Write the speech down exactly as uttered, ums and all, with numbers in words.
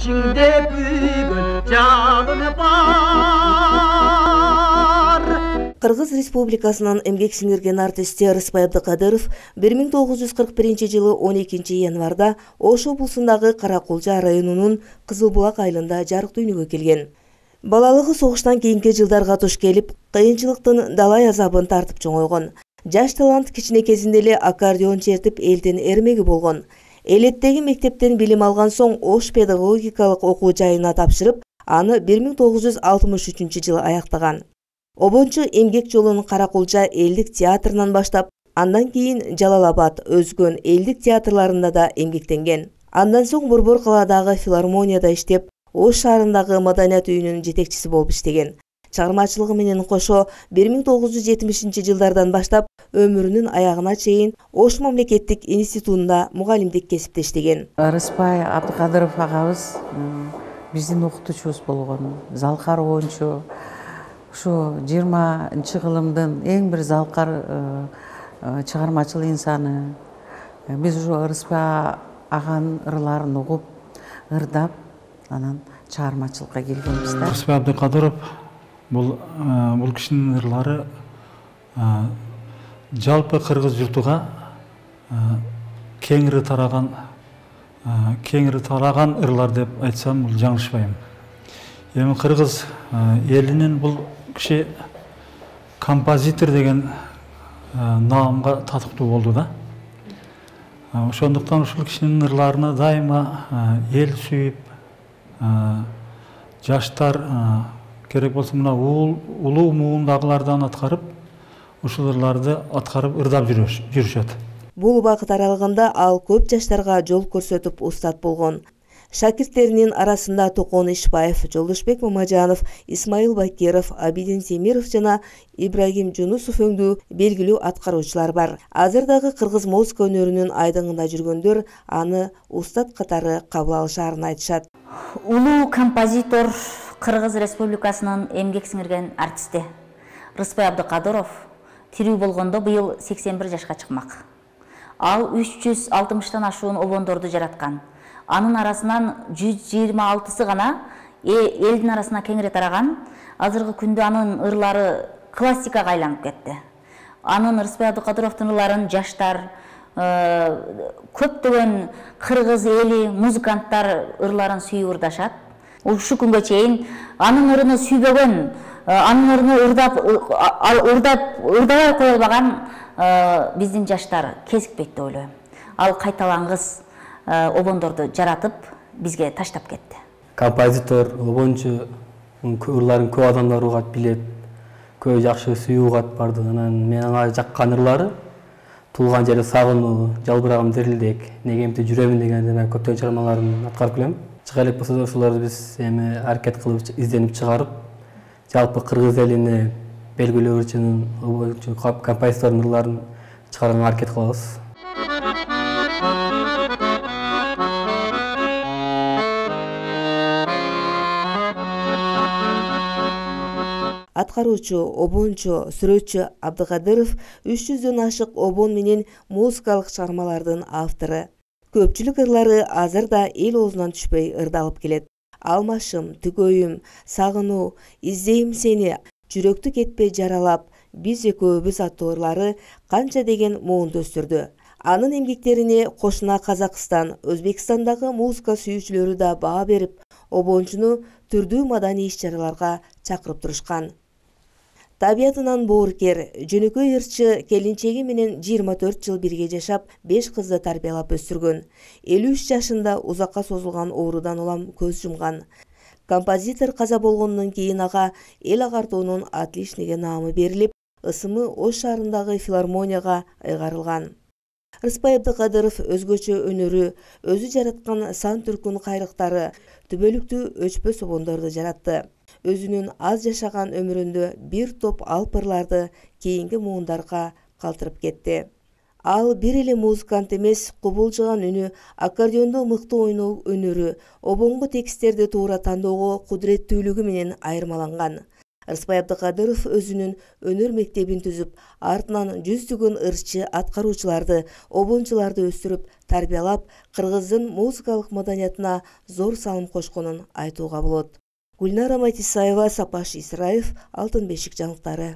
ичиңде бүгүн жаным бар. Кыргыз Республикасынын эмгек сиңирген артисти Рыспай Абдыкадыров бир миң тогуз жүз кырк биринчи жылы он экинчи январда Ош облусундагы Каракулча районунун Кызыл Булак айылында жарык дүйнөгө келген. Балалыгы согуштан кийинки жылдарга туш келип, кыйынчылыктын далай азабын тартып чоңойгон. Жаш талант кичинекесинде эле аккордеон чертип элдин эрмеги болгон. Элеттеги мектептен билим алган соң Ош педагогикалык окуу жайына тапшырып, аны бир миң тогуз жүз алтымыш үчүнчү жылы аяктаган. Обончу эмгек жолун Каракулча элдик театрынан баштап, андан кийин Жалал-Абад, Өзгөн элдик театрларында да эмгектенген. Андан соң Борбор калаадагы филармонияда иштеп, Ош шаарындагы маданият үйүнүн жетекчиси болуп иштеген. Чыгармачылыгы менен кошо бир миң тогуз жүз жетимишинчи жылдардан баштап өмүрүнүн аягына чейин Ош мамлекеттик институтунда мугалимдик кесипте иштеген. Рыспай Абдыкадыров агабыз биздин окутуучубуз болгон, залкар оончу. Ушу жыйырманчы кылымдын эң бир залкар чыгармачыл инсаны. Биз ушу Рыспай аганын ырларын угуп, ырдап, анан чыгармачылыкка келгенбиз да. Рыспай Абдыкадыров бул бул кишинин ырлары жалпы кыргыз журтуга кеңири тараган кеңири тараган ырлар деп айтсам бул жаңылышпайм. Эми кыргыз элинин бул киши композитор деген наамга татыктуу болду да. Ошондуктан ушул кишинин ырларына дайыма эл сүйүп, жаштар керек болсо мына улуу муундагылардан аткарып, ушул ырларды аткарып ырдап жүрүшөт. Бул убакыт аралыгында ал көп жаштарга жол көрсөтүп устат болгон. Шакирттеринин арасында Токон Ишбаев, Жолдошбек Мамажанов, Исмаил Бакиров, Абидин Темиров жана Ибрагим Жунусов өңдүү белгилүү аткаруучулар бар. Азыр дагы кыргыз музыка өнөрүнүн айдыңында жүргөндөр аны устат катары кабыл алышаарын айтышат. Улуу композитор, Кыргыз Республикасынын эмгек сиңирген артисти Рыспай Абдыкадыров тирүү болгондо быйыл сексен бир жашка чыкмак. Ал үч жүз алтымыштан ашуун обондорду жараткан. Анын арасынан жүз жыйырма алтысы гана элдин арасына кеңири тараган. Азыркы күндө анын ырлары классикага айланып кетти. Анын Рыспай Абдыкадыровдун ырларын жаштар, көптөгөн кыргыз эли, музыканттар ырларын сүйүп ырдашат. Ушу күнгө чейин анын ырын сүйбөгөн, анын ырын ырдап ырдап ырдабай кое албаган биздин жаштар кезикпейт деп ойлойм. Ал кайталангыс обондорду жаратып бизге таштап кетти. Композитор, обончу ырларын көп адамдар угат, билет, көп жакшы сүйүү угат барды. Анан мен ага жаккан ырлары Туулган жери сагынуу, Жалбырагым дирилдек, Негемди жүрөмүн деген көптөгөн чыгармаларын аткарып келем. Чыга элек болсо да ушуларды биз эми аракет кылып изденип чыгарып, жалпы кыргыз элине белгилүү ырчынын, композитордун ырларын чыгарганга аракет кылабыз. Аткаруучу, обончу, сүрөтчү Абдыкадыров үч жүздөн ашык обон менен музыкалык чыгармалардын автору. Көпчүлүк ырлары азыр да эл оозунан түшпөй ырдалып келет. Алмашым, Түгөйүм, Сагынуу, Издейм сени, Жүрөктү кетпей жаралап, Биз экөөбүз аттуу ырлары канча деген муунду өстүрдү. Анын эмгектерине кошуна Казакстан, Өзбекстандагы музыка сүйүүчүлөрү да баа берип, обончуну түрдүү маданий иш-чараларга чакырып турушкан. Табиятынан боорукер, жөнөкөй ырчы келинчеги менен жыйырма төрт жыл бирге жашап, беш кызды тарбиялап өстүргөн. элүү үч жашында узакка созулган оорудан улам көз жумган. Композитор каза болгондон кийин ага эл агартуунун отличниги наамы берилип, ысымы Ош шаарындагы филармонияга ыйгарылган. Рыспай Абдыкадыров өзгөчө өнөрү, өзү жараткан сан түркүн кайрыктары, түбөлүктүү өчпөс обондорду жаратты. Өзүнүн аз жашаган өмүрүндө бир топ алп ырларды кийинки муундарга калтырып кетти. Ал бир эле музыкант эмес, кубулжуган үнү, аккордеондо мыкты ойноо өнөрү, обонго тексттерди туура тандоого кудуреттүүлүгү менен айырмаланган. Рыспай Абдыкадыров өзүнүн өнөр мектебин түзүп, артынан жүздөгөн ырчы аткаруучуларды, обончуларды өстүрүп, тарбиялап, кыргыздын музыкалык маданиятына зор салым кошконун айтууга болот. Гүлнара Матисаева, Сапаш Исраев, Алтын бешик жаңылыктары.